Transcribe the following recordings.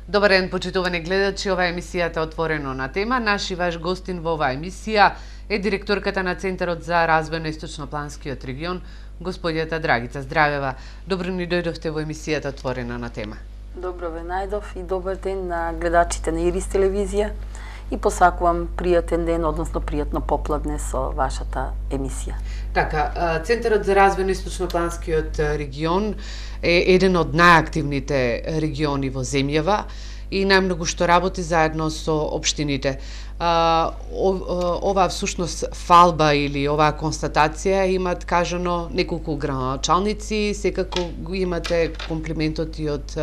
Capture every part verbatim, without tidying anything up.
Добар ден, почитувани гледачи, ова е емисијата Отворено на тема. Наш и ваш гостин во оваа емисија е директорката на Центарот за развој на Источнопланскиот регион, господјата Драгица Здравева. Добро ни дојдовте во емисијата Отворено на тема. Добро ве најдов и добар ден на гледачите на Ирис телевизија и посакувам пријатен ден, односно пријатно попладне со вашата емисија. Така, Центарот за развој на Источнопланскиот регион е еден од најактивните региони во земјава и најмногу што работи заедно со општините. Ова всушност фалба или оваа констатација имат кажано неколку градоначалници, секако го имате комплиментот и од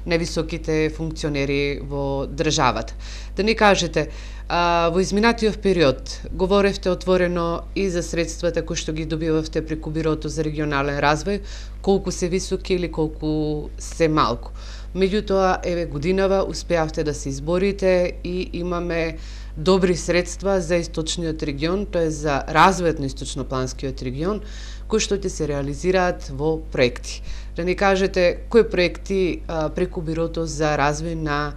највисоките функционери во државата. Да ни кажете, во изминатиот период говоревте отворено и за средствата кои што ги добивавте преку Бирото за регионален развој, колку се високи или колку се малку. Меѓутоа, еве годинава успеавте да се изборите и имаме добри средства за источниот регион, тоа е за развојот на Источнопланскиот регион, кои што ќе се реализираат во проекти. Да ни кажете кои проекти а, преку Бирото за развој на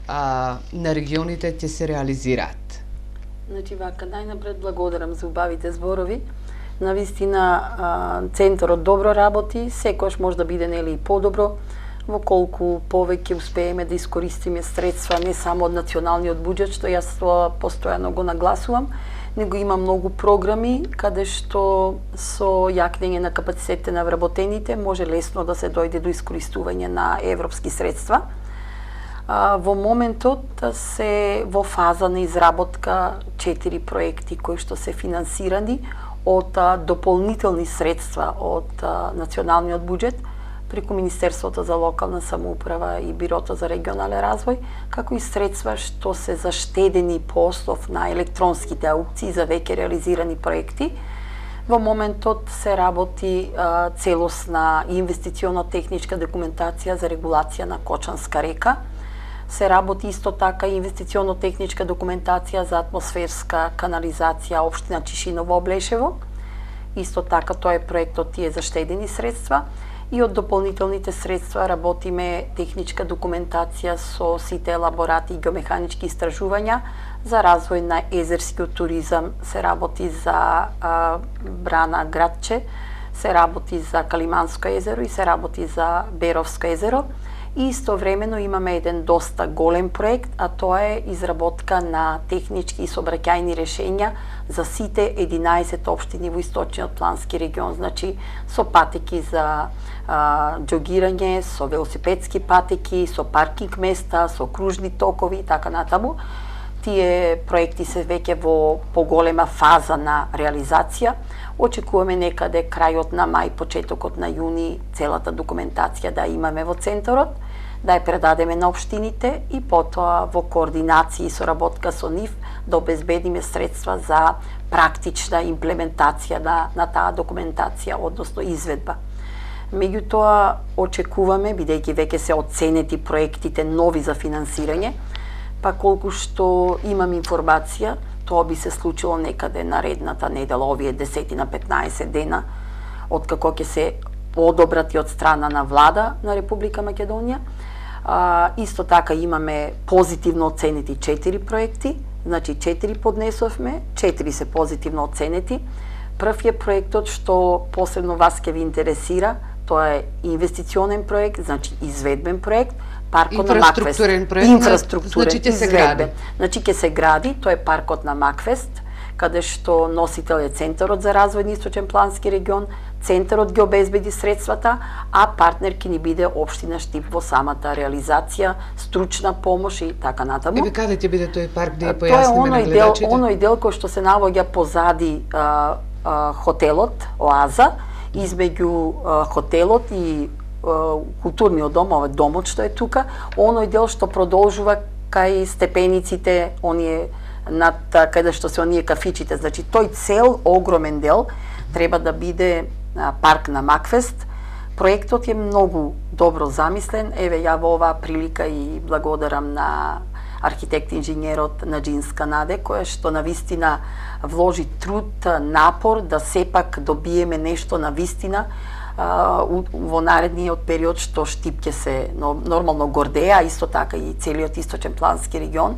а, на регионите ќе се реализираат? Значи вака, најнапред благодарам за убавите зборови. Навистина центарот добро работи, секојаш може да биде нели и подобро, во колку повеќе успееме да искористиме средства не само од националниот буџет, што јас постојано го нагласувам, него има многу програми каде што со јакнење на капацитетите на вработените може лесно да се дојде до искористување на европски средства. Во моментот се во фаза на изработка четири проекти кои што се финансирани од дополнителни средства од националниот буџет преку Министерството за локална самоуправа и Бирото за регионален развој, како и средства што се заштедени по основ на електронските аукции за веќе реализирани проекти. Во моментот се работи а, целосна инвестиционо-техничка документација за регулација на Кочанска река. Се работи исто така инвестиционо-техничка документација за атмосферска канализација општина Чишиново Облешево. Исто така тоа е проектот тие заштедени средства. И од дополнителните средства работиме техничка документација со сите елаборати и геомеханички истражувања за развој на езерскиот туризам, се работи за а, Брана Градче, се работи за Калиманско езеро и се работи за Беровско езеро. И истовремено имаме еден доста голем проект, а тоа е изработка на технички и сообраќајни решења за сите единаесет општини во Источниот плански регион, значи со патеки за а, џогирање, со велосипедски патеки, со паркинг места, со кружни токови и така натаму. Тие проекти се веќе во поголема фаза на реализација. Очекуваме некаде крајот на мај, почетокот на јуни целата документација да имаме во центарот, да ја предадеме на општините и потоа во координација и соработка со нив да обезбедиме средства за практична имплементација на, на таа документација, односно изведба. Меѓутоа, очекуваме, бидејќи веќе се оценети проектите нови за финансирање, па колку што имам информација, тоа би се случило некаде наредната недела, овие десетина петнаесет дена, откако ќе се одобрати од страна на влада на Република Македонија. А, исто така имаме позитивно оценети четири проекти, значи четири поднесовме, четири се позитивно оценети. Прв е проектот што посебно вас ќе ви интересира, тоа е инвестиционен проект, значи изведбен проект, паркот на Макфест. Проект, инфраструктурен, значи ќе се гради. Значи ќе се гради, тоа е паркот на Макфест, каде што носител е Центарот за развој на Источен плански регион, Центарот ги обезбеди средствата, а партнер ќе ни биде општина Штип во самата реализација, стручна помош и така натаму. Еве каде ќе биде тој парк, да ја појасниме на гледачите? Тоа е оној дел кој што се наоѓа позади а, а, хотелот Оаза, измеѓу а, хотелот и а, културниот дом, овој домот што е тука, оној дел што продолжува кај степениците, оние над каде што се оние кафичите, значи тој цел огромен дел треба да биде а, парк на Макфест. Проектот е многу добро замислен. Еве ја во оваа прилика и благодарам на архитект-инженерот Наџинска Наде, која што навистина вложи труд, напор да сепак добиеме нешто навистина во наредниот период што Штип ќе се нормално гордеа, исто така и целиот источен плански регион.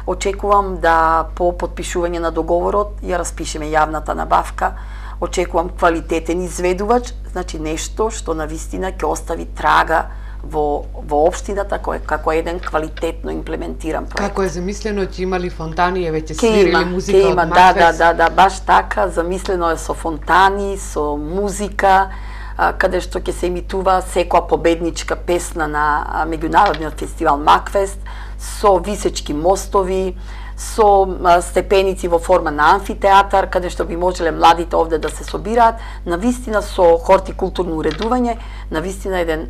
Очекувам да по потпишување на договорот ја распишеме јавната набавка. Очекувам квалитетен изведувач, значи нешто што навистина ќе остави трага во во општината кој како еден квалитетно имплементиран проект. Како е замислено, ќе има ли фонтани, е веќе свирили музика од има, да, да, да, да, баш така, замислено е со фонтани, со музика, а, каде што ќе се емитува секоја победничка песна на меѓународниот фестивал Макфест, со висечки мостови, со степеници во форма на амфитеатар, каде што би можеле младите овде да се собираат, навистина со хортикултурно уредување, навистина еден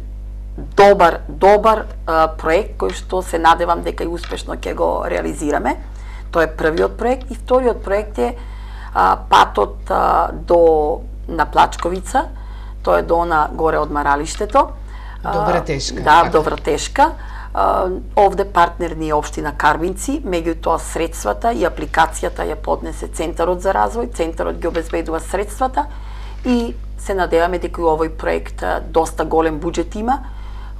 добар, добар а, проект кој што се надевам дека и успешно ќе го реализираме. Тоа е првиот проект и вториот проект е а, патот а, до на Плачковица, тоа е до она горе од Маралиштето. До Вратешка. Да, до Вратешка. Овде партнер ни е општина Карбинци, меѓутоа средствата и апликацијата ја поднесе Центарот за развој, Центарот ги обезбедува средствата и се надеваме дека и овој проект доста голем буџет има,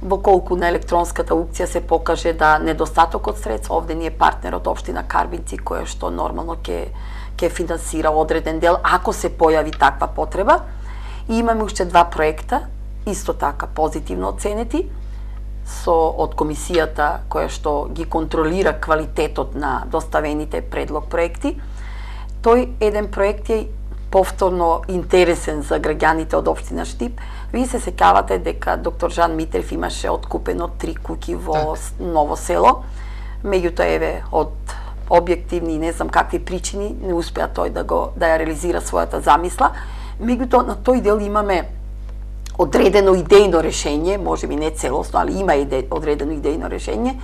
во колку на електронската аукција се покаже да недостатокот средства, овде ни е партнерот општина Карбинци која што нормално ќе ќе финансира одреден дел ако се појави таква потреба. И имаме уште два проекта, исто така позитивно оценети, со од комисијата која што ги контролира квалитетот на доставените предлог проекти. Тој еден проект е повторно интересен за граѓаните од општина Штип. Вие се сеќавате дека доктор Жан Митрев имаше откупено три куќи во так. Ново село. Меѓутоа еве од објективни и не знам какви причини не успеа тој да го да ја реализира својата замисла. Меѓутоа на тој дел имаме одредено идејно решение, може би не целосно, али има иде, одредено идејно решение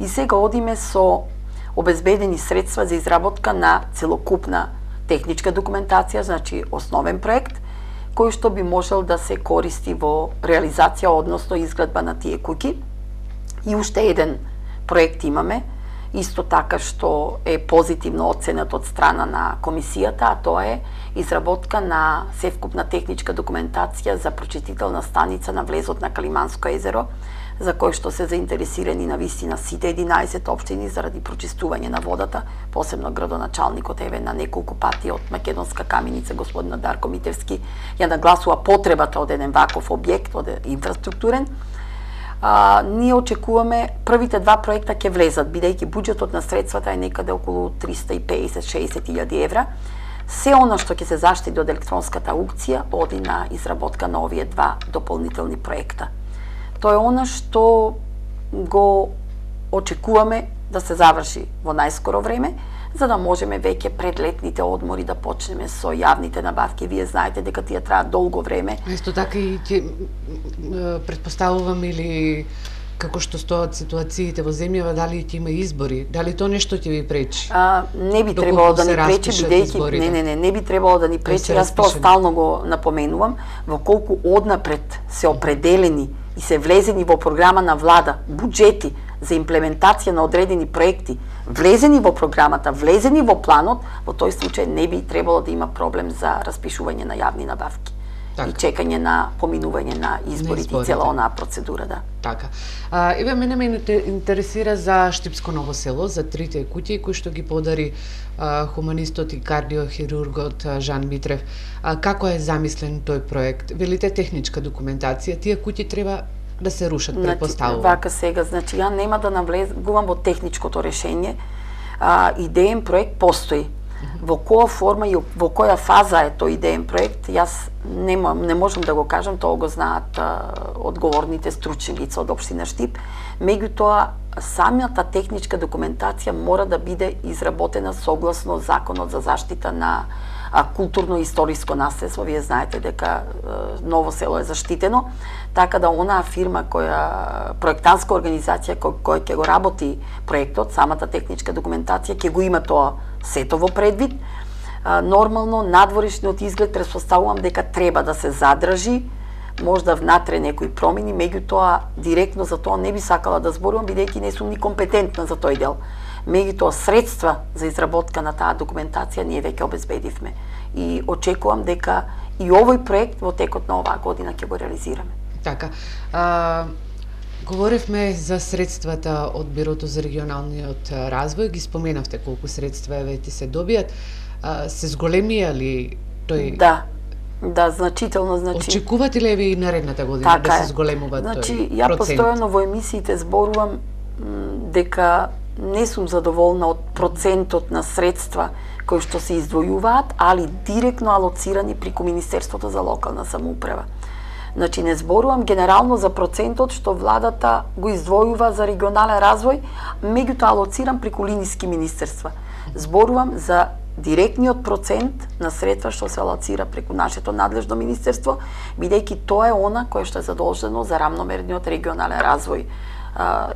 и сега одиме со обезбедени средства за изработка на целокупна техничка документација, значи основен проект, кој што би можел да се користи во реализација, односно изградба на тие куќи. И уште еден проект имаме, исто така што е позитивно оценет од страна на комисијата, а тоа е изработка на севкупна техничка документација за прочистителна станица на влезот на Калиманско езеро, за кој што се заинтересирани на вистина сите единаесет општини заради прочистување на водата, посебно градоначалникот еве на неколку пати од Македонска каменица господина Дарко Митевски ја нагласува потребата од еден ваков објект, од инфраструктурен. А, ние очекуваме првите два проекта ќе влезат, бидејќи буџетот на средствата е некаде околу триста и песет до шеесет илјади евра. Се она што ќе се заштити од електронската аукција оди на изработка на овие два дополнителни проекта. Тоа е она што го очекуваме да се заврши во најскоро време, за да можеме веќе пред летните одмори да почнеме со јавните набавки. Вие знаете дека тие траат долго време. Исто така и ќе претпоставувам или како што стоат ситуациите во земјава, дали ќе има избори, дали тоа нешто ќе ви пречи? А, не би требало да ни пречи, бидејќи не, не, не, не би требало да ни пречи, јас тоа стално го напоменувам, во колку однапред се определени и се влезени во програма на влада буџети за имплементација на одредени проекти, влезени во програмата, влезени во планот, во тој случај не би требало да има проблем за распишување на јавни набавки. Така. И чекање на поминување на изборите и цела онаа процедура, да. Така. А, еве мене ме интересира за Штипско Ново село, за трите куќи кои што ги подари а, хуманистот и кардиохирургот Жан Митрев. А, како е замислен тој проект? Велите техничка документација, тие куќи треба да се рушат, значи, предпоставувам. Вака сега, значи ја нема да навлезувам во техничкото решение. А, идеен проект постои. Во која форма и во која фаза е тој идеен проект, јас нема, не можам да го кажам, тоа го знаат а, одговорните стручни лица од општина Штип. Меѓутоа, самата техничка документација мора да биде изработена согласно Законот за заштита на а, културно-историско наследство. Вие знаете дека а, Ново село е заштитено, така да онаа фирма која проектантска организација која, која ќе го работи проектот, самата техничка документација ќе го има тоа сето во предвид. А, нормално надворешниот изглед претпоставувам дека треба да се задржи, можда внатре некои промени, меѓутоа директно за тоа не би сакала да зборувам, бидејќи не сум ни компетентна за тој дел. Меѓутоа средства за изработка на таа документација ние веќе обезбедивме и очекувам дека и овој проект во текот на оваа година ќе го реализираме. Така. А, говоревме за средствата од Бирото за регионалниот развој, ги споменавте колку средства еве ти се добијат. А, се зголемија ли тој? Да. Да, значително, значи. Очекувате ли еве и наредната година така да се зголемува значи, тој ја процент? постојано во емисиите зборувам дека не сум задоволна од процентот на средства кои што се издвојуваат, али директно алоцирани преку Министерството за локална самоуправа. Значи не зборувам генерално за процентот што владата го издвојува за регионален развој, меѓутоа алоцирам преку линиски министерства. Зборувам за директниот процент на средства што се алоцира преку нашето надлежно министерство, бидејќи тоа е она кое што е задолжено за рамномерниот регионален развој, а,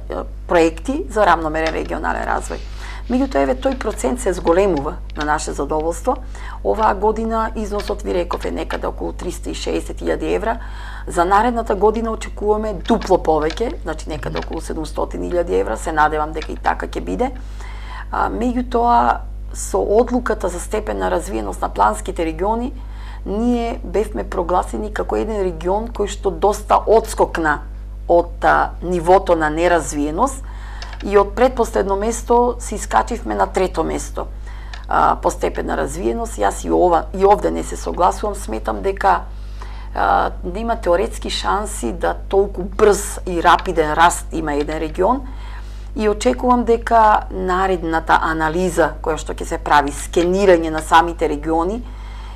проекти за рамномерен регионален развој. Меѓутоа, еве, тој процент се зголемува на наше задоволство. Оваа година износот, ви реков, е некаде околу триста и шеесет илјади евра. За наредната година очекуваме дупло повеќе, значи некаде околу седумстотини илјади евра. Се надевам дека и така ќе биде. А, меѓутоа, со одлуката за степен на развиеност на планските региони, ние бевме прогласени како еден регион кој што доста одскокна од а, нивото на неразвиеност и од предпоследно место се искачивме на трето место а, по степен на развиеност. Јас и ова и овде не се согласувам, сметам дека а, нема теоретски шанси да толку брз и рапиден раст има еден регион. И очекувам дека наредната анализа која што ќе се прави, скенирање на самите региони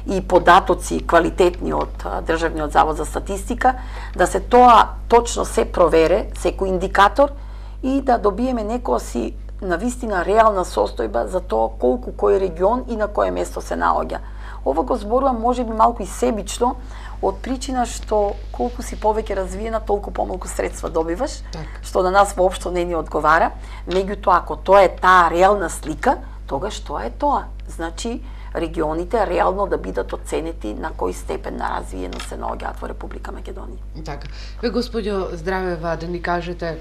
и податоци квалитетни од Државниот завод за статистика, да се тоа точно се провере, секој индикатор, и да добиеме некоја си навистина реална состојба за тоа колку кој регион и на кое место се наоѓа. Ова го зборувам можеби малку и себично, од причина што колку си повеќе развиена, толку помалку средства добиваш, так, што на нас воопшто не ни одговара. Меѓутоа, ако тоа е таа реална слика, тогаш тоа е тоа. Значи, регионите реално да бидат оценети на кој степен на развиеност се наоѓаат во Република Македонија. Така. Ве, господјо Здравева, да ни кажете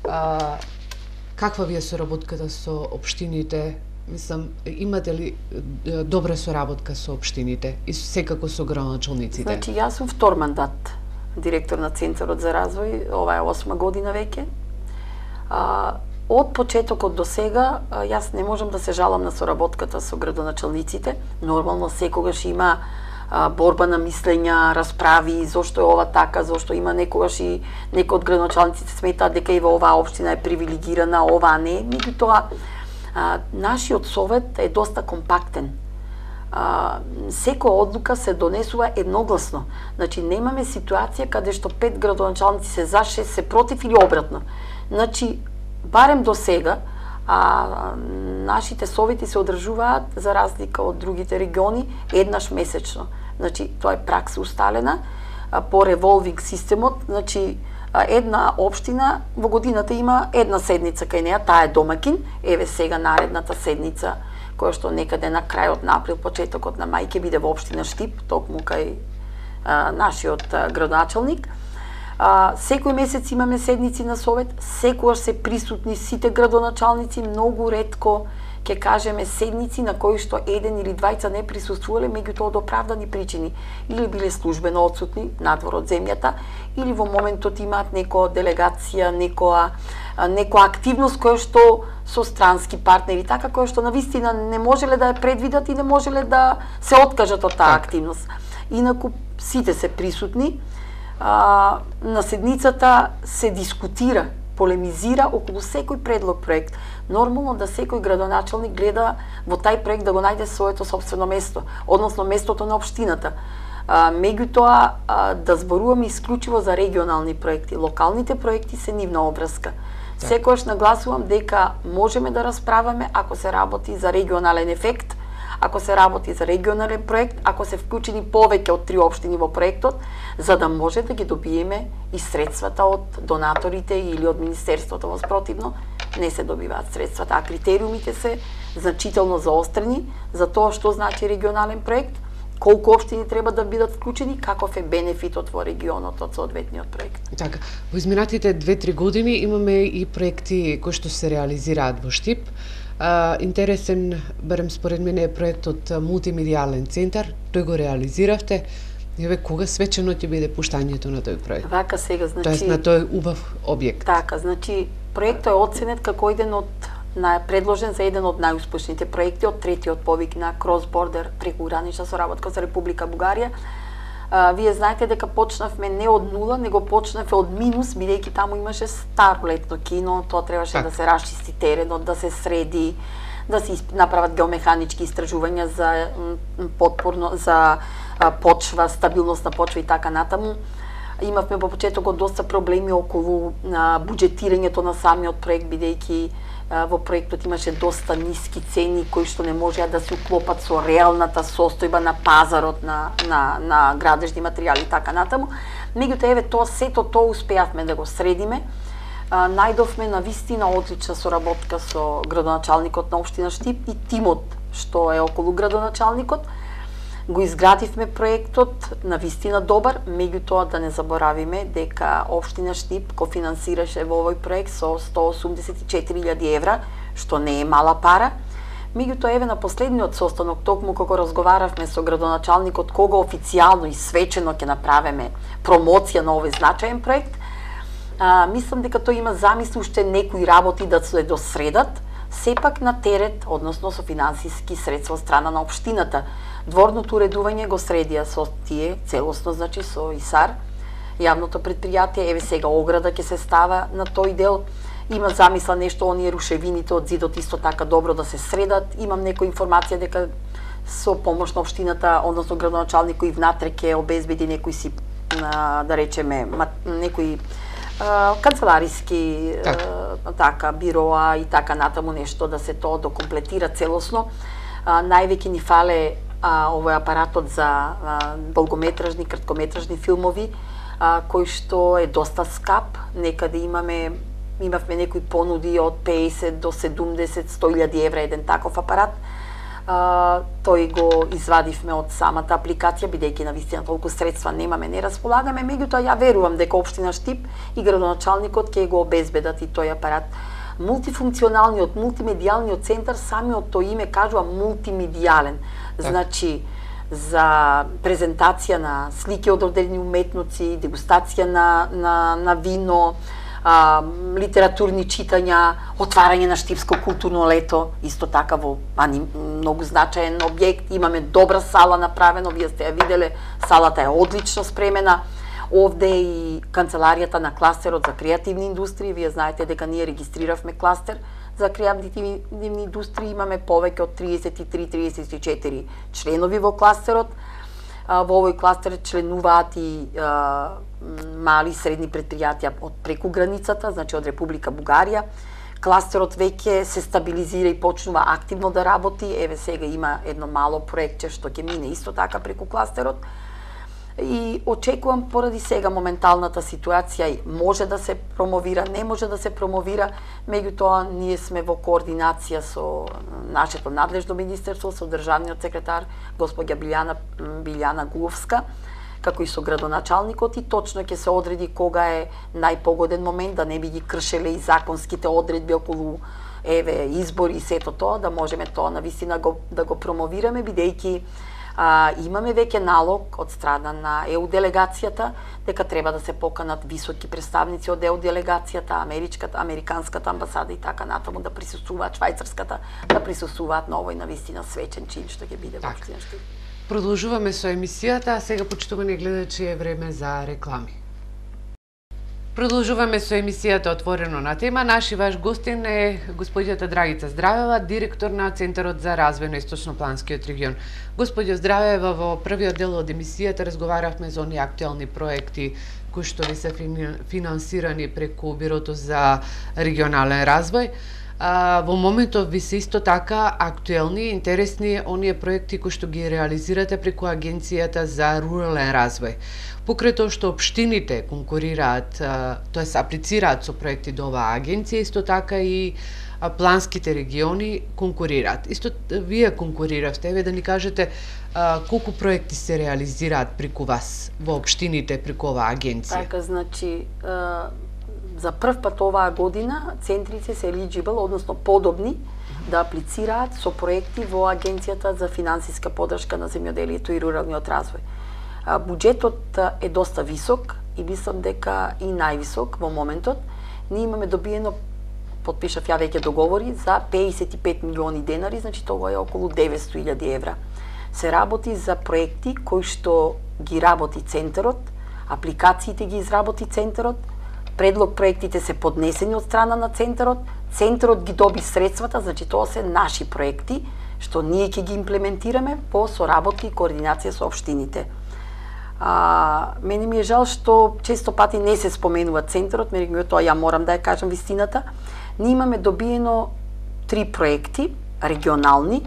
а, каква ви е соработката со општините? Мислам, имате ли добра соработка со општините и секако со градоначалниците? Значи, јас сум втор мандат директор на Центарот за развој, ова е осма година веќе. А, од почетокот до сега, јас не можам да се жалам на соработката со градоначалниците. Нормално секогаш има а, борба на мислења, расправи, зошто е ова така, зошто има некогаш и некои од градоначалниците сметаат дека и во оваа општина е привилегирана, оваа не. Меѓутоа, А, нашиот совет е доста компактен. А, секоја одлука се донесува едногласно. Значи, немаме ситуација каде што пет градоначалници се за, шест се против или обратно. Значи, барем до сега, а, нашите совети се одржуваат, за разлика од другите региони, еднаш месечно. Значи, тоа е пракса усталена а, по револвинг системот. Значи, една општина во годината има една седница кај неа, таа е домакин. Еве сега наредната седница, која што некаде на крајот на април, почетокот на мај, ќе биде во општина Штип, токму кај а, нашиот а, градоначалник. А, секој месец имаме седници на совет, секогаш се присутни сите градоначалници, многу ретко ќе кажеме седници на кои што еден или двајца не присуствувале, меѓутоа од оправдани причини, или биле службено отсутни надвор од земјата, или во моментот имаат некоја делегација, некоја некоја активност која што со странски партнери, така која што навистина не можеле да ја предвидат и не можеле да се откажат од таа активност. Инаку сите се присутни, а, на седницата се дискутира, полемизира околу секој предлог проект. Нормално да секој градоначалник гледа во тај проект да го најде своето собствено место, односно местото на општината. А, меѓутоа, а, да зборуваме исклучиво за регионални проекти. Локалните проекти се нивна обврска. Секогаш нагласувам дека можеме да расправаме ако се работи за регионален ефект, ако се работи за регионален проект, ако се вклучени повеќе од три општини во проектот, за да може да ги добиеме и средствата од донаторите или од Министерството. Воспротивно, не се добиваат средствата, а критериумите се значително заострени за тоа што значи регионален проект, колку општини треба да бидат вклучени, каков е бенефитот во регионот од соодветниот проект. Така, во изминатите две-три години имаме и проекти кои што се реализираат во Штип. А, интересен, барем според мене, е проектот Мултимедијален центар, тој го реализиравте. Еве кога свечено ќе биде пуштањето на тој проект? Вака сега, значи... Тоест на тој убав објект. Така, значи, проектот е оценет како еден од на предложен за еден од најуспешните проекти од третиот повик на Cross Border прекугранична соработка за Република Бугарија. А, вие знаете дека почнавме не од нула, него почнавме од минус, бидејќи таму имаше старо летно кино, тоа требаше так. да се расчисти теренот, да се среди, да се направат геомеханички истражувања за подпорно за почва, стабилност на почва и така натаму. Имавме во почетокот доста проблеми околу а, буџетирањето на самиот проект, бидејќи а, во проектот имаше доста ниски цени кои што не можеа да се уклопат со реалната состојба на пазарот на на на градежни материјали и така натаму. Меѓутоа еве тоа сето тоа успеавме да го средиме. А, најдовме на вистина одлична соработка со градоначалникот на општина Штип и тимот што е околу градоначалникот. Го изградивме проектот на вистина добар, меѓутоа да не заборавиме дека општина Штип го финансираше во овој проект со сто осумдесет и четири илјади евра, што не е мала пара. Меѓутоа еве на последниот состанок, токму кога разговаравме со градоначалникот кога официјално и свечено ќе направиме промоција на овој значаен проект, а, мислам дека тој има замисли уште некои работи да се досредат, сепак на терет, односно со финансиски средства од страна на општината. Дворното уредување го средија со тие целосно, значи со ИСАР, јавното предпријатие. Еве сега ограда ќе се става на тој дел. Има замисла нешто оние рушевините од зидот исто така добро да се средат. Имам некоја информација дека со помош на општината, односно градоначалникот и внатре ќе обезбеди некои си, да речеме, некои канцелариски так. така бироа и така натаму нешто да се тоа докомплетира целосно. Највеќе ни фале а, овој апаратот за а, долгометражни, краткометражни филмови, а, кој што е доста скап. Некаде имаме имавме некои понуди од песет до седумдесет до сто илјади евра еден таков апарат. А, тој го извадивме од самата апликација, бидејќи на вистина толку средства немаме, не располагаме, меѓутоа ја верувам дека општина Штип и градоначалникот ќе го обезбедат и тој апарат. Мултифункционалниот, мултимедијалниот центар, самиот тој име кажува мултимедијален. Значи, за презентација на слики од одредени уметници, дегустација на, на, на вино, а, литературни читања, отварање на Штипско културно лето, исто така во ани, многу значаен објект. Имаме добра сала направена, вие сте ја виделе, салата е одлично спремена. Овде и канцеларијата на кластерот за креативни индустрии, вие знаете дека ние регистриравме кластер за креативни индустрии, имаме повеќе од триесет и три до триесет и четири членови во кластерот. Во овој кластер членуваат и а, мали и средни предпријатија од преку границата, значи од Република Бугарија. Кластерот веќе се стабилизира и почнува активно да работи. Еве сега има едно мало проектче што ќе мине исто така преку кластерот. И очекувам поради сега моменталната ситуација може да се промовира, не може да се промовира, меѓутоа ние сме во координација со нашето надлежно министерство, со државниот секретар госпоѓа Билјана Билјана Гуловска, како и со градоначалникот, и точно ќе се одреди кога е најпогоден момент да не би ги кршеле и законските одредби околу еве избори и сето тоа, да можеме тоа навистина го, да го промовираме, бидејќи А, имаме веќе налог од страна на ЕУ делегацијата дека треба да се поканат високи представници од ЕУ делегацијата, америчката, американската амбасада и така натаму да присуствуваат, швајцарската да присуствуваат на овој навистина свечен чин што ќе биде во општина Штип. Продолжуваме со емисијата, а сега почитувани гледачи е време за реклами. Продолжуваме со емисијата Отворено на тема. Наши ваш гостин е господјата Драгица Здравева, директор на Центарот за развој на Источнопланскиот регион. Господјо Здравева, во првиот дел од емисијата разговаравме за оние актуелни проекти кои што ви се финансирани преку Бирото за регионален развој. А, во моментов ви се исто така актуелни, интересни оние проекти кои што ги реализирате преку Агенцијата за рурален развој. Покрај тоа што општините конкурираат, тоест аплицираат со проекти до оваа агенција, исто така и планските региони конкурираат. Исто вие конкуриравте, еве да ни кажете а, колку проекти се реализираат преку вас во општините преку оваа агенција? Така, значи, а, за прв пат оваа година центрите се eligible, односно подобни да аплицираат со проекти во Агенцијата за финансиска поддршка на земјоделието и руралниот развој. Буџетот е доста висок и мислам дека и највисок во моментот. Ние имаме добиено, потпишав ја веќе договори за педесет и пет милиони денари, значи тоа е околу деветсто илјади евра. Се работи за проекти кои што ги работи центарот, апликациите ги изработи центарот, предлог проектите се поднесени од страна на центарот, центарот ги доби средствата, значи тоа се наши проекти што ние ќе ги имплементираме по соработка и координација со општините. А, мене ми е жал што често пати не се споменува центарот, меѓутоа ја морам да ја кажам вистината. Ние имаме добиено три проекти регионални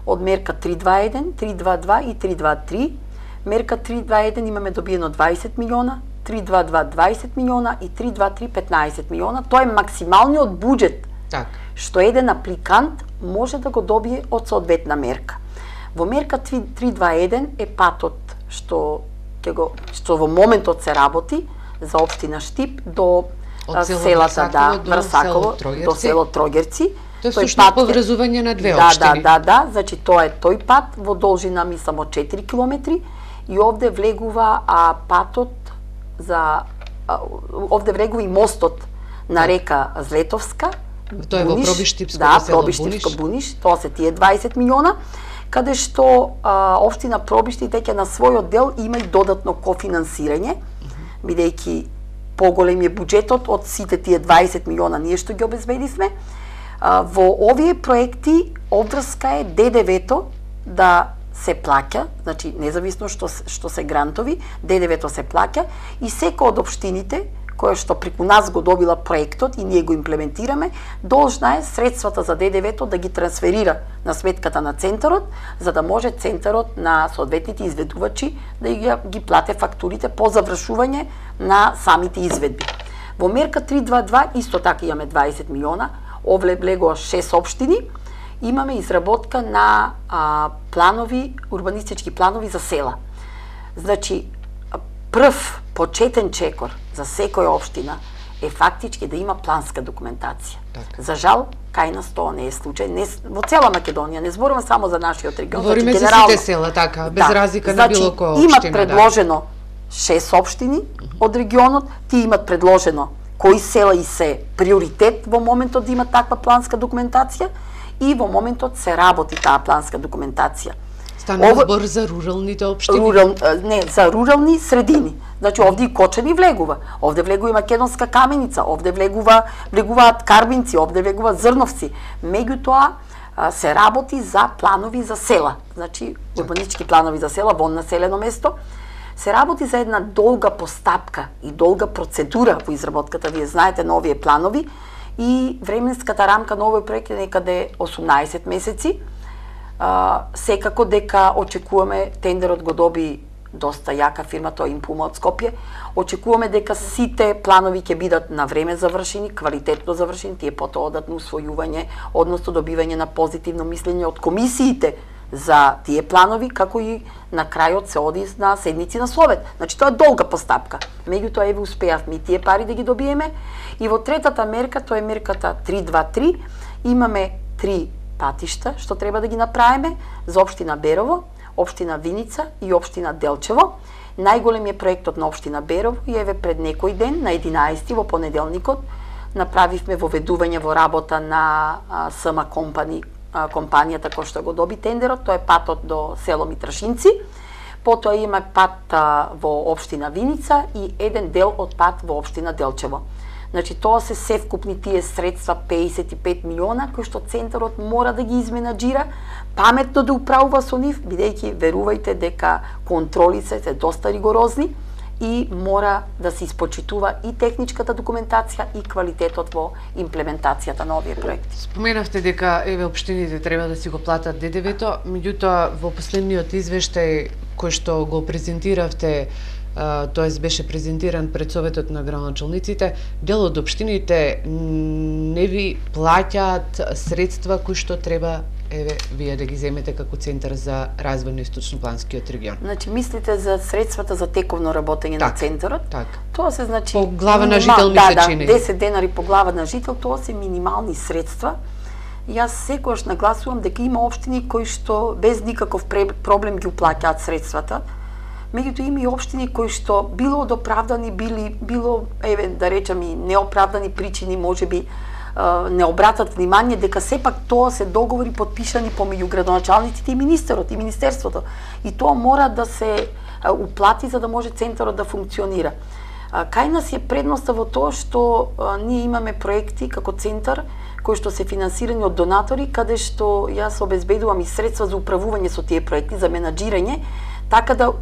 од мерка три дваесет и еден, три дваесет и два и три дваесет и три. Мерка три дваесет и еден имаме добиено дваесет милиона, три дваесет и два дваесет милиона и три дваесет и три петнаесет милиона. Тоа е максималниот буџет Так. што еден апликант може да го добие од соодветна мерка. Во мерка три дваесет и еден е патот што ќе го што во моментот се работи за општина Штип до од селата да до Врсаково до село Трогерци. Тоа е всушност поврзување на две да, општини. Да, да, да, значи тоа е тој пат во должина мислам од четири километри и овде влегува а патот за а, овде влегува и мостот на река Злетовска. Тоа е во Пробиштипско да, село Пробиштипско Буниш, тоа се тие дваесет милиона, каде што а, општина Пробиштип веќе на својот дел има и додатно кофинансирање, бидејќи поголем е буџетот од сите тие дваесет милиона ние што ги обезбедивме. А, во овие проекти обврска е Д Д В-то да се плаќа, значи независно што што се грантови, Д Д В-то се плаќа и секој од општините која што преку нас го добила проектот и ние го имплементираме, должна е средствата за Д Д В-то да ги трансферира на сметката на центарот, за да може центарот на соодветните изведувачи да ги, ги плате фактурите по завршување на самите изведби. Во мерка три дваесет и два исто така имаме дваесет милиона, овле влегува шест општини, имаме изработка на а, планови, урбанистички планови за села. Значи, прв почетен чекор за секоја општина е фактички да има планска документација. Так. За жал, кај нас тоа не е случај, не, во цела Македонија, не зборувам само за нашиот регион. Говориме значи, за сите села, така, без да, разлика значи, на било која општина. Имат предложено шест општини од регионот, тие имат предложено кои села и се приоритет во моментот да имат таква планска документација и во моментот се работи таа планска документација. Станува Ово... збор за руралните општини? Рурал, не, за рурални средини. Значи овде и Кочани влегува, овде влегува и Македонска Каменица, овде влегува влегуваат Карбинци, овде влегува Зрновци. Меѓутоа се работи за планови за села, значи урбанистички планови за села во населено место. Се работи за една долга постапка и долга процедура во изработката, вие знаете, на овие планови и временската рамка на овој проект е некаде осумнаесет месеци. А, секако дека очекуваме, тендерот го доби доста јака фирма, тоа Импума од Скопје. Очекуваме дека сите планови ќе бидат на време завршени, квалитетно завршени, тие потоа одат на усвојување, односно добивање на позитивно мислење од комисиите за тие планови, како и на крајот се оди на седници на Совет. Значи тоа е долга постапка. Меѓутоа еве успеавме и тие пари да ги добиеме. И во третата мерка, тоа е мерката три дваесет и три, имаме три патишта што треба да ги направиме за општина Берово, општина Виница и општина Делчево. Најголем е проектот на општина Берово и еве пред некој ден, на единаесети во понеделникот, направивме воведување во работа на С М Компани, компанијата која што го доби тендерот, тоа е патот до село Митрашинци. Потоа има пат во општина Виница и еден дел од пат во општина Делчево. Значи тоа се севкупни тие средства педесет и пет милиона кои што центарот мора да ги изменаџира, паметно да управува со нив, бидејќи верувајте дека контролите се доста ригорозни и мора да се испочитува и техничката документација и квалитетот во имплементацијата на овие проекти. Споменавте дека еве општините треба да си го платат Д Д В-то, меѓутоа во последниот извештај кој што го презентиравте, тоест беше презентиран пред Советот на градоначалниците, дел од општините не ви плаќаат средства кои што треба еве вие да ги земете како Центар за развој на Источнопланскиот регион. Значи мислите за средствата за тековно работење так, на центарот? Так. Тоа се значи по глава на жител ми се да, чини. Да, десет денари по глава на жител, тоа се минимални средства. Јас секогаш нагласувам дека има општини кои што без никаков проблем ги уплаќаат средствата. Меѓутоа има и општини кои што било од оправдани, били, било, еве, да речам и неоправдани причини, можеби не обратат внимание дека сепак тоа се договори подпишани помеѓу градоначалниците и министерот и министерството. И тоа мора да се уплати за да може центарот да функционира. Кај нас е предноста во тоа што ние имаме проекти како центар кои што се финансирани од донатори, каде што јас обезбедувам и средства за управување со тие проекти, за менаџирање, така да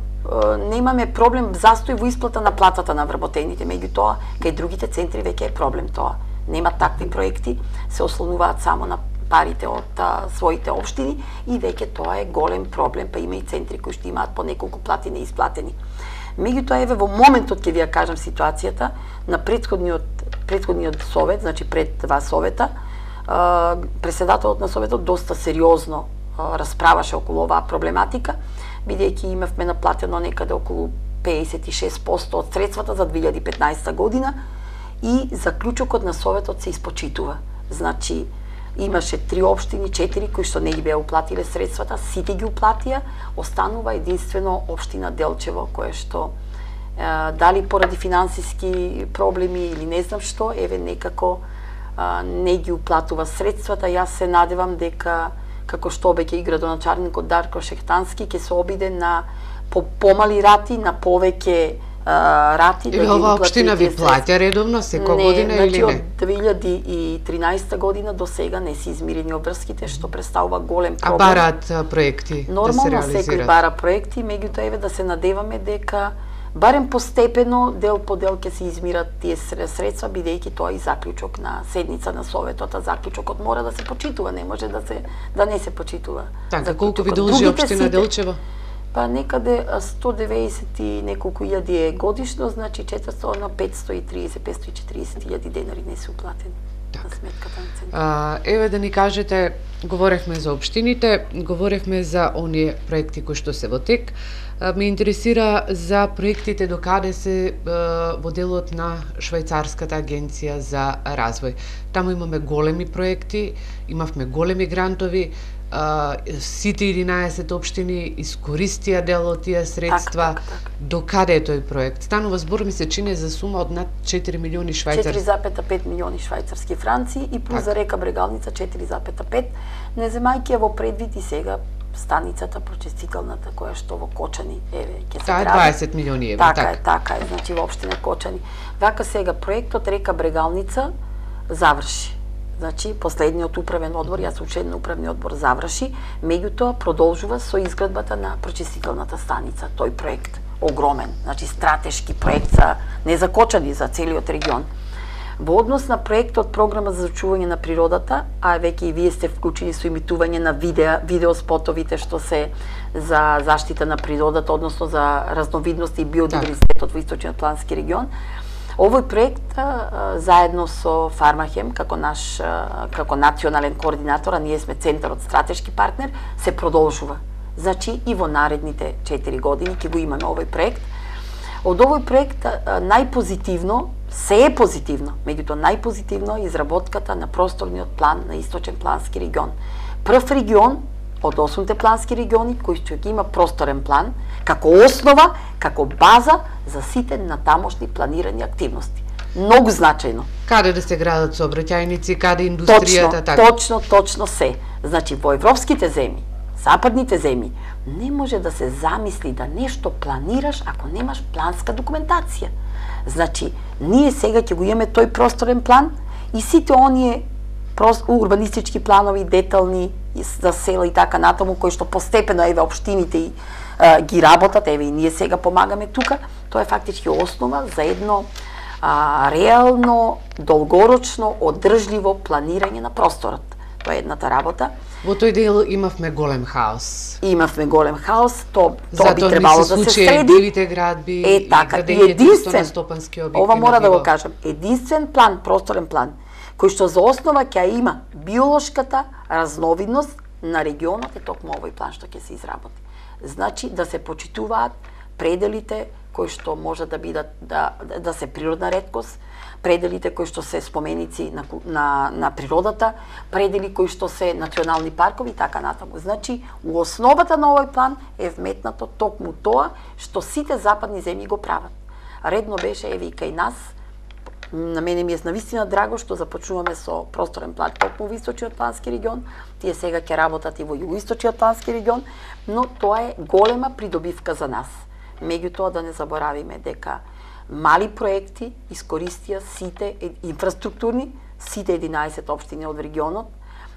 немаме проблем застој во исплата на платата на вработените. Меѓутоа, кај другите центри веќе е проблем тоа. Нема такви проекти, се ослонуваат само на парите од а, своите општини и веќе тоа е голем проблем, па има и центри кои што имаат по неколку плати неисплатени. Меѓутоа, еве во моментот ќе ви ја кажам ситуацијата на претходниот претходниот совет, значи пред два совета, а, председателот на советот доста сериозно а, расправаше околу оваа проблематика, бидејќи имавме наплатено некаде околу педесет и шест проценти од средствата за две илјади и петнаесета година и заклучокот на советот се испочитува. Значи, имаше три општини, четири кои што не ги беа уплатиле средствата, сите ги уплатија, останува единствено општина Делчево, кое што е, дали поради финансиски проблеми или не знам што, еве некако е, не ги уплатува средствата. Јас се надевам дека, како што обеќе и градоначалникот Дарко Шехтански, ќе се обиде на по помали рати, на повеќе рати. Или да ова општина ви плаќа редовно секоја година значи, или не? Од две илјади и тринаесета година до сега не се измирени обврските, што представува голем проблем. А бараат проекти Нормално, да се реализираат? секој бара проекти, меѓутоа еве да се надеваме дека барем постепено, дел по дел ќе се измират тие средства, бидејќи тоа и заклучок на седница на советот, а заклучокот мора да се почитува, не може да се да не се почитува. Така, колку ви должи општина Делчево? Па некаде сто деветдесет и неколку илјади е годишно, значи четиристотини на петстотини и триесет до петстотини и четириесет илјади денари не се уплатени так на сметката на центарот. Еве да ни кажете, говоревме за општините, говоревме за оние проекти кои што се во тек. Ме интересира за проектите до каде се во делот на Швајцарската агенција за развој. Таму имаме големи проекти, имавме големи грантови, Uh, сите единаесет општини искористија дел од тие средства. Так, так, так. До каде е тој проект? Станува збор, ми се чини за сума од над четири милиони швајцарски. четири запета пет милиони швајцарски франци и плюс за река Брегалница четири запета пет, не земајќи ја во предвид и сега станицата прочистителната која што во Кочани еве ќе се Таа гради. дваесет милиони евра, така. така. е, така е, значи во општина Кочани. Вака сега проектот река Брегалница заврши. Значи, последниот управен одбор, јас сум член на управниот одбор, заврши, меѓутоа продолжува со изградбата на прочистителната станица, тој проект огромен, значи стратешки проект за не за Кочани, за целиот регион. Во однос на проектот програма за зачување на природата, а веќе и вие сте вклучени со имитување на видео, видеоспотовите што се за заштита на природата, односно за разновидности и биодиверзитетот во Источниот плански регион. Овој проект а, заедно со Фармахем како наш а, како национален координатор, а ние сме центарот стратешки партнер, се продолжува. Значи и во наредните четири години ќе го имаме овој проект. Од овој проект а, најпозитивно, се е позитивно, меѓутоа најпозитивно е изработката на просторниот план на Источен плански регион. Прв регион од осумте плански региони кој што ги има просторен план како основа, како база за сите натамошни планирани активности. Многу значајно. Каде да се градат сообраќајници, каде индустријата, точно, така. Точно, точно се. Значи во европските земји, западните земји, не може да се замисли да нешто планираш ако немаш планска документација. Значи, ние сега ќе го имаме тој просторен план и сите оние урбанистички планови, детални за села и така натаму, кои што постепено еве општините и а, ги работат, еве и ние сега помагаме тука, тоа е фактички основа за едно а, реално, долгорочно, одржливо планирање на просторот. Тоа е едната работа. Во тој дел имавме голем хаос. Имавме голем хаос, то тоа би Затоа требало се да се случи среди. дивите градби Е така, и единствен, ова мора да го кажам, единствен план, просторен план, кој што за основа ќе има биолошката разновидност на регионот е токму овој план што ќе се изработи. Значи да се почитуваат пределите кои што може да бидат да, да се природна реткост, пределите кои што се споменици на, на, на природата, предели кои што се национални паркови и така натаму. Значи, у основата на овој план е вметнато токму тоа што сите западни земји го прават. Редно беше, еве и кај нас, на мене ми е навистина драго што започнуваме со просторен план токму во Источниот плански регион, тие сега ќе работат и во Југоисточниот плански регион, но тоа е голема придобивка за нас. Меѓутоа да не заборавиме дека мали проекти искористија сите инфраструктурни, сите единаесет општини од регионот.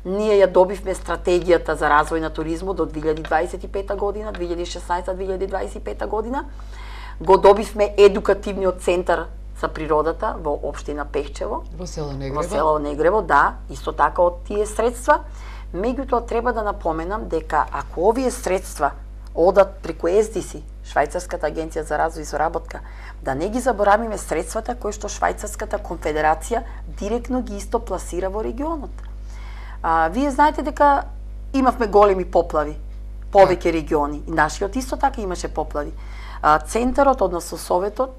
Ние ја добивме стратегијата за развој на туризмот до две илјади дваесет и пета година, две илјади и шеснаесета - две илјади дваесет и пета година. Го добивме едукативниот центар за природата во општина Пехчево, во село Негрево. Во село Негрево, да, исто така од тие средства. Меѓутоа треба да напоменам дека ако овие средства одат преку Ес Ди Си, Швајцарската агенција за развој и соработка, да не ги заборавиме средствата кои што Швајцарската конфедерација директно ги исто пласира во регионот. А, вие знаете дека имавме големи поплави, повеќе региони, и нашиот исто така имаше поплави. А, центарот, односно советот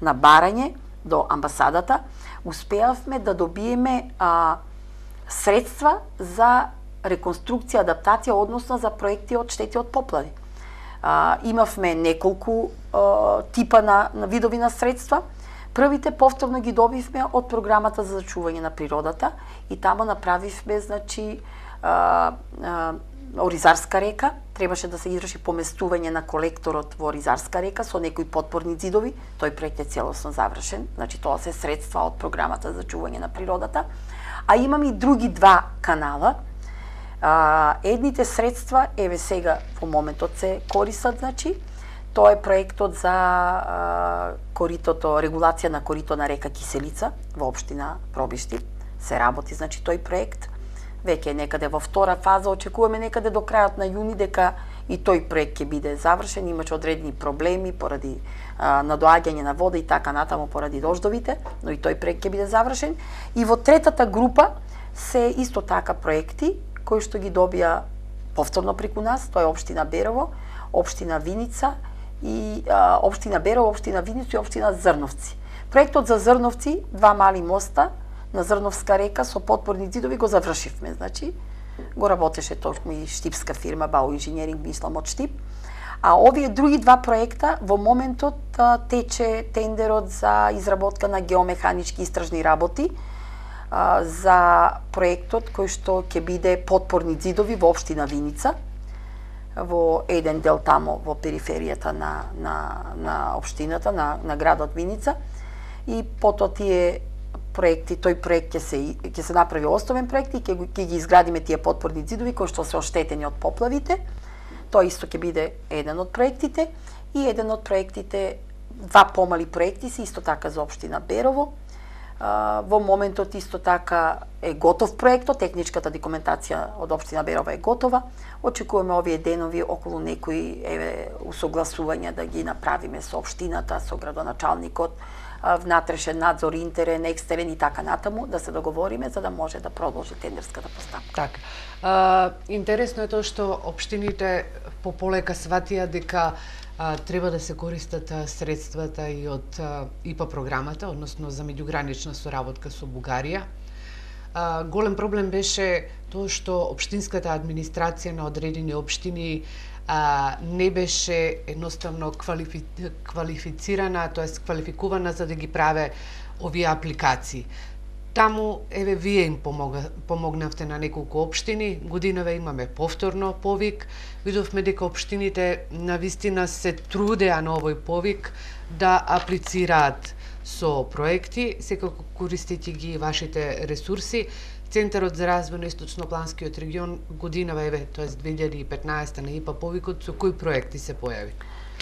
на барање до амбасадата, успеавме да добиеме а, средства за реконструкција, адаптација, односно за проекти од штети од поплави. А, имавме неколку а, типа на, на видови на средства. Првите повторно ги добивме од програмата за зачување на природата и таму направивме, значи, а, а, Оризарска река, требаше да се изврши поместување на колекторот во Оризарска река со некои подпорни ѕидови, тој проект е целосно завршен, значи тоа се средства од програмата за зачување на природата. А имаме и други два канала. А, едните средства, еве сега во моментот се користат, значи, тоа е проектот за а, коритото, регулација на корито на река Киселица во општина Пробишти. Се работи, значи, тој проект. Веќе некаде во втора фаза, очекуваме некаде до крајот на јуни дека и тој проект ќе биде завршен, имаше одредени проблеми поради а, надоаѓање на вода и така натаму поради дождовите, но и тој проект ќе биде завршен. И во третата група се исто така проекти кои што ги добија повторно преку нас, тоа е општина Берово, општина Виница и а, општина Берово, општина Виница и општина Зрновци. Проектот за Зрновци, два мали моста на Зрновска река со подпорни ѕидови го завршивме, значи го работеше точно и штипска фирма Бау инженеринг, мислам од Штип. А овие други два проекта во моментот а, тече тендерот за изработка на геомеханички истражни работи а, за проектот кој што ќе биде подпорни ѕидови во општина Виница, во еден дел тамо во периферијата на на на општината, на на градот Виница, и потоа тие проекти, тој проект ќе се ќе се направи основен проект и ќе ќе ги изградиме тие подпорни ѕидови кои што се оштетени од поплавите. Тоа исто ќе биде еден од проектите и еден од проектите, два помали проекти се исто така за општина Берово. А, во моментот исто така е готов проектот, техничката документација од општина Берово е готова. Очекуваме овие денови околу некои еве усогласувања да ги направиме со општината, со градоначалникот, внатрешен надзор, интерен, екстерен и така натаму, да се договориме за да може да продолжи тендерската постапка. Така. А, интересно е тоа што општините пополека сватија дека а, треба да се користат а, средствата и од а, И П А програмата, односно за меѓугранична соработка со Бугарија. А, голем проблем беше тоа што општинската администрација на одредени општини а, не беше едноставно квалифи... квалифицирана, тоест квалификувана за да ги праве овие апликации. Таму, еве, вие им помога, помогнавте на неколку општини, годинове имаме повторно повик, видовме дека општините навистина се трудеа на овој повик да аплицираат со проекти, секако користејќи ги вашите ресурси. Центарот за развој на Источнопланскиот регион годинава, еве, тоест две илјади и петнаесета на И П А повикот, со кои проекти се појави?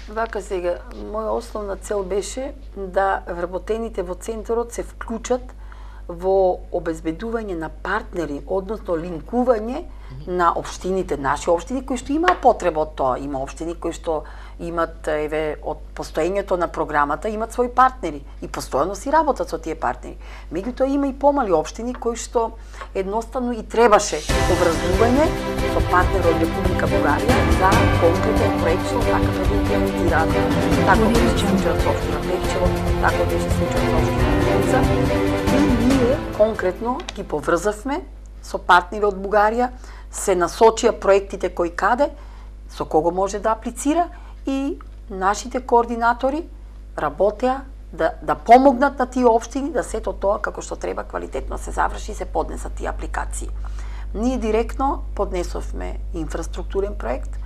Вака сега, моја основна цел беше да вработените во центарот се вклучат во обезбедување на партнери, односно линкување mm -hmm. на општините, наши општини кои што имаа потреба од тоа. Има општини кои што имат, еве, од постоењето на програмата, имат своји партнери и постојано си работат со тие партнери. Меѓутоа има и помали општини кои што едноставно и требаше образување со партнер од Република Бугарија за конкретен проект што така да го имплементираат. Така беше случајот со општина Пекчево, така беше случајот со општина Милица. И ние конкретно ги поврзавме со партнери од Бугарија, се насочија проектите кои каде, со кого може да аплицира, и нашите координатори работеа да, да помогнат на тие општини да сето тоа како што треба квалитетно се заврши и се поднесат тие апликации. Ние директно поднесовме инфраструктурен проект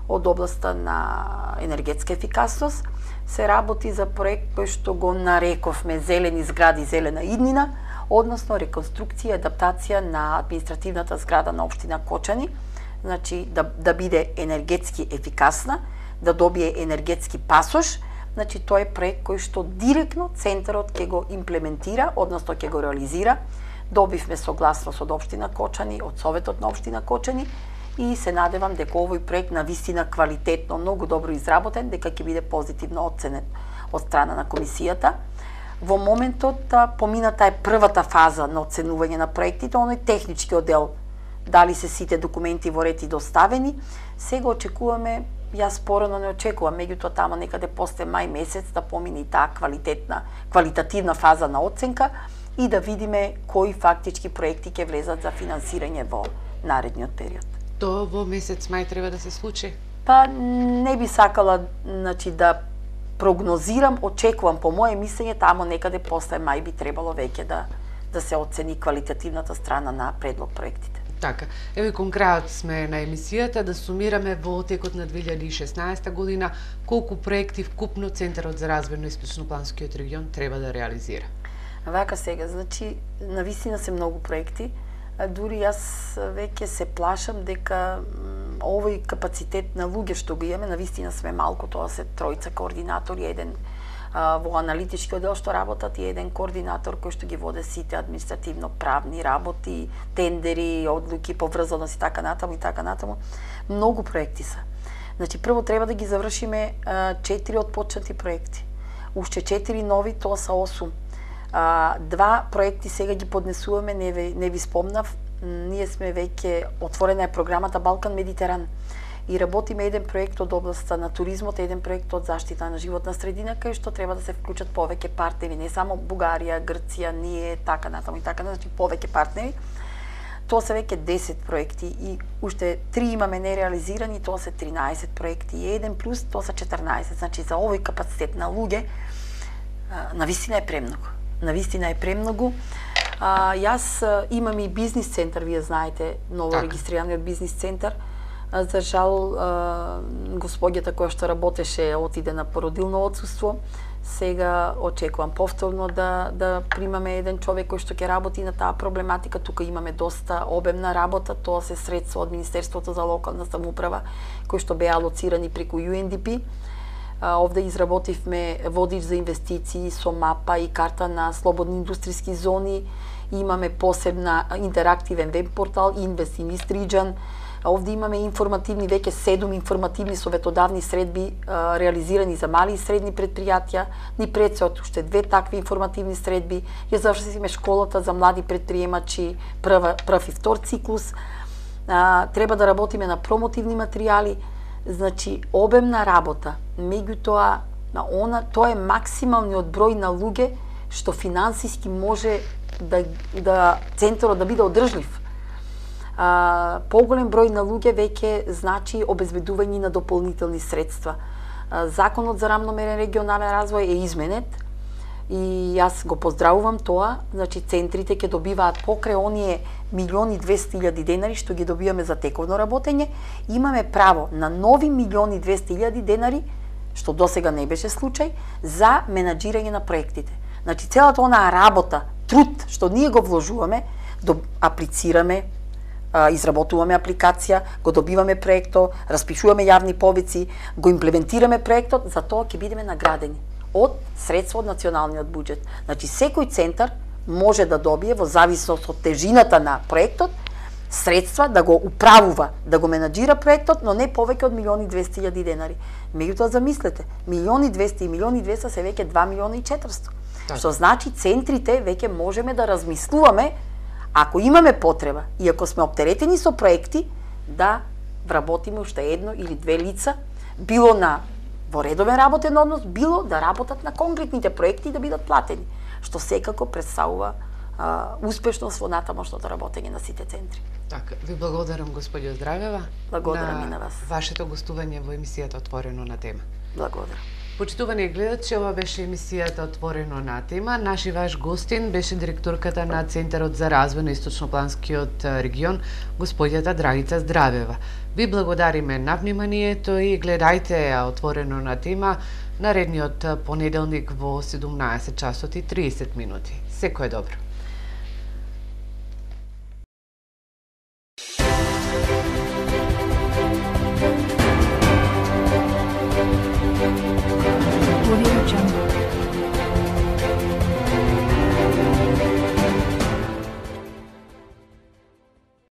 од областа на енергетска ефикасност. Се работи за проект кој што го нарековме зелени згради, зелена иднина, односно реконструкција и адаптација на административната зграда на општина Кочани, значи да, да биде енергетски ефикасна, да добие енергетски пасош. Значи тоа е проект кој што директно центарот ќе го имплементира, односно ќе го реализира. Добивме согласност од општина Кочани, од Советот на општина Кочани и се надевам дека овој проект на вистина квалитетно, многу добро изработен, дека ќе биде позитивно оценет од страна на комисијата. Во моментот помината е првата фаза на оценување на проектите, оној технички оддел, дали се сите документи во ред и доставени. Сега очекуваме, јас порано не очекувам, меѓутоа тамо некаде после мај месец да помине и таа квалитетна, квалитативна фаза на оценка и да видиме кои фактички проекти ќе влезат за финансирање во наредниот период. Тоа во месец мај треба да се случи? Па не би сакала, значи, да прогнозирам, очекувам по моје мислење тамо некаде после мај би требало веќе да да се оцени квалитативната страна на предлог проектите. Така, еве кон крајот сме на емисијата, да сумираме во текот на две илјади и шеснаесета година колку проекти вкупно Центарот за развој на Источнопланскиот регион треба да реализира. Вака сега, значи, навистина се многу проекти, а дури јас веќе се плашам дека овој капацитет на луѓе што го имаме, навистина сме малку, тоа се тројца координатори, еден а, во аналитички оддел што работат и еден координатор кој што ги воде сите административно-правни работи, тендери, одлуки, поврзаност и така натаму и така натаму. Многу проекти се. Значи, прво треба да ги завршиме а, четири отпочнати проекти. Уште четири нови, тоа са осум. А, два проекти сега ги поднесуваме, не ви, не ви спомнав, ние сме веќе, отворена е програмата Балкан Медитеран и работиме еден проект од областта на туризмот, еден проект од заштита на животна средина, кај што треба да се вклучат повеќе партнери, не само Бугарија, Грција, ние, така натаму и така, значи повеќе партнери. Тоа се веќе десет проекти и уште три имаме нереализирани, тоа се тринаесет проекти и еден плюс, тоа се четрнаесет. Значи за овој капацитет на луѓе навистина е премногу. Навистина е премногу. А, јас а, имам и бизнис центар, вие знаете, ново так. Регистрираниот бизнис центар. А, за жал, а, господјата која што работеше отиде на породилно отсуство. Сега очекувам повторно да, да примаме еден човек кој што ќе работи на таа проблематика. Тука имаме доста обемна работа, тоа се средства од Министерството за локална самоуправа, кои што беа алоцирани преку Ю Ен Ди Пи. Овде изработивме водич за инвестиции со мапа и карта на слободни индустријски зони. Имаме посебна интерактивен веб портал Invest in East Region. Овде имаме информативни, веќе седум информативни советодавни средби а, реализирани за мали и средни предпријатија. Ни предстојат уште две такви информативни средби. Ја завршивме школата за млади предприемачи, прв, прв и втор циклус. А, треба да работиме на промотивни материјали. Значи, обемна работа. Меѓутоа, на она, тоа е максималниот број на луѓе што финансиски може да, да центарот да биде одржлив. А, поголем број на луѓе веќе значи обезбедување на дополнителни средства. А, Законот за рамномерен регионален развој е изменет и јас го поздравувам тоа. Значи, центрите ќе добиваат покрај оние милиони двесте илјади денари што ги добиваме за тековно работење, имаме право на нови милиони двесте илјади денари, што досега не беше случај, за менаџирање на проектите. Значи, целата онаа работа, труд што ние го вложуваме, до аплицираме, изработуваме апликација, го добиваме проекто, распишуваме јавни повици, го имплементираме проектот, за тоа ќе бидеме наградени од средства од националниот буџет. Значи, секој центар може да добие, во зависност од тежината на проектот, средства да го управува, да го менаџира проектот, но не повеќе од милион и двесте илјади денари. Меѓутоа замислете, милион и двесте и милион и двесте се веќе два милиона и четиристо. Так. Што значи центрите веќе можеме да размислуваме, ако имаме потреба и ако сме оптеретени со проекти, да вработиме уште едно или две лица, било на во редовен работен однос, било да работат на конкретните проекти и да бидат платени, што секако представува а, успешност во натамошното работење на сите центри. Така, ви благодарам господјо Здравева. Благодарам и на вас. Вашето гостување во емисијата Отворено на тема. Благодарам. Почитувани гледачи, ова беше емисијата Отворено на тема. Наш и ваш гостин беше директорката на Центарот за развој на Источнопланскиот регион, господјата Драгица Здравева. Ви благодариме на вниманието и гледајте ја Отворено на тема наредниот понеделник во седумнаесет часот и триесет минути. Секое добро.